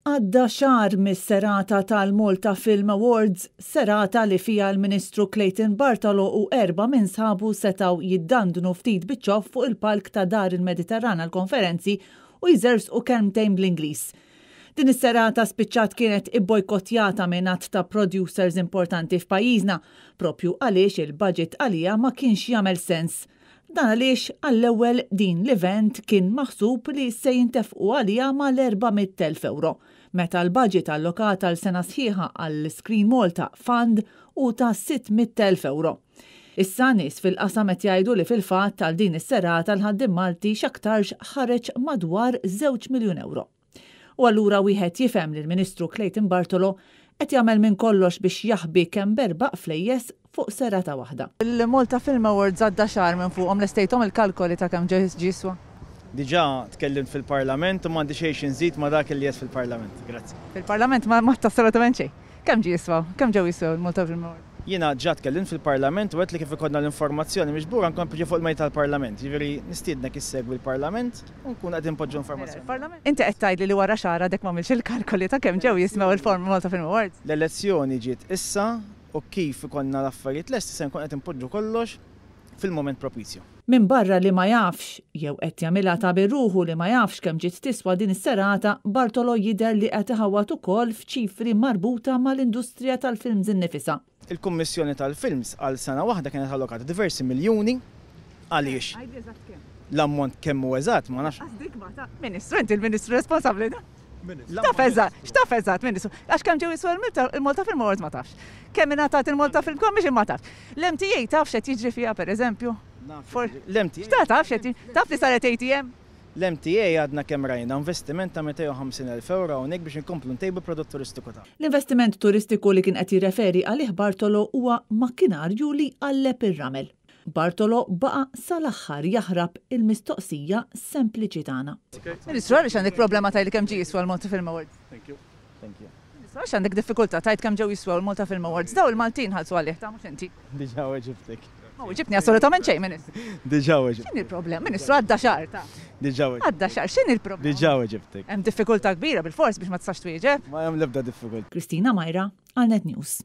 Għadda xahar mis-serata tal-Malta Film Awards, serata li fiha l-Ministru Clayton Bartolo u erbgħa minn sħabu setgħu jiddandnu ftit biċ-ċoff fuq il-palk ta' Dar il-Mediterran għall-Konferenzi u jżerżqu kelmtejn bl-Ingliż. Din is-serata spiċċat kienet ibbojkottjata minn għadd ta' producers importanti f'pajjiżna, proprju għaliex il-budget għaliha ma kienx jagħmel sens. Dan għaliex għall-ewwel din l-event kien maħsub li se jintefqu għaliha mal-400,000 ewro, meta l-budget allokat għal sena sħiħa għall-Screen Malta Fund hu ta' 600,000 ewro. Issa nies fil-qasam qed jgħidu li fil-fatt għal din is-serata l-ħaddiem Malti x'aktarx ħareġ madwar żewġ miljun ewro. U allura wieħed jifhem li l-Ministru Clayton Bartolo qed jagħmel minn kollox biex jaħbi kemm berbaq flejjes fuq serata waħda. Il-Malta Film Awards għadda xahar minn fuqhom, lestejthom il-kalkoli ta' kemm ġie jiswa? Diġà tkellimt fil-Parlament u m'għandi xejn xi nżid ma' dak li għedt fil-Parlament. Grazzi. Fil-Parlament ma għedt assolutament xejn. Kemm ġie jiswa? Kemm ġew jiswew il-Malta Film Awards? Jiena ġa tkellimt fil-Parlament u għedt li kif ikollna l-informazzjoni miġbura nkompli ġie fuq il-mejda tal-Parlament. Jiġifieri nistiednek issegwi l-Parlament u nkunu qegħdin npoġġu l-informazzjoni. Inti qed tgħidli li wara xahar għadek m'għamiltx il-kalkoli ta' kemm ġew jiswew il-Malta Film Awards? L-elezzjoni ġiet issa u kif ikollna l-affarijiet lesti se nkun qed inpoġġu kollox fil-mument propizju. Minbarra li ma jafx, jew qed jagħmilha ta' bir-ruħu li ma jafx kemm ġiet tiswa din is-serata, Bartolo jidher li qed iħawwad ukoll f'ċifri marbuta mal-industrija tal-films innifisha. Il-Kummissjoni tal-Films għal sena waħda kienet allokata diversi miljuni għaliex l-ammont kemm hu eżatt ma nafx. Ministru, inti l-Ministru responsabbli. X'taf eżatt, x'taf eżatt, Ministru? Għax kemm ġew jiswew il-Malta Film Awards ma tafx. Kemm ingħatat il-Malta Film Commission ma tafx. L-MTA taf x'qed jiġri fiha pereżempju? L-MTA. X'ta taf x'qed jiġri? Taf li saret ATM? L-MTA għadna kemm rajna investiment ta' 250,000 ewro hawnhekk biex inkomplu ntejbu l-prodott turistiku tagħna. L-investiment turistiku li kien qed jirreferi għalih Bartolo huwa makkinarju li jqalleb ir-ramel. Bartolo baqa' sal-aħħar jaħrab il-mistoqsija sempliċi tagħna. Ministru, għaliex għandek problema tgħidli kemm ġie jiswa l-Malta Film Awards? Ministru, għaliex għandek diffikultà tgħid kemm ġew jiswew il-Malta Film Awards? Dawn il-Maltin ħallsu għalih, ta' mhux inti. Diġà weġibtek. Ma weġibtni assolutament xejn, Ministru. Diġà weġibtek. X'inhi l-problema? Ministru, għadda xahar, ta. Diġà weġibtek. Għadda xahar, x'inhi l-problema? Diġà weġibtek. Hemm diffikultà kbira bilfors biex ma tistax twieġeb. Ma hemm l-ebda diffikultà. Kristina Majra, għal Net News.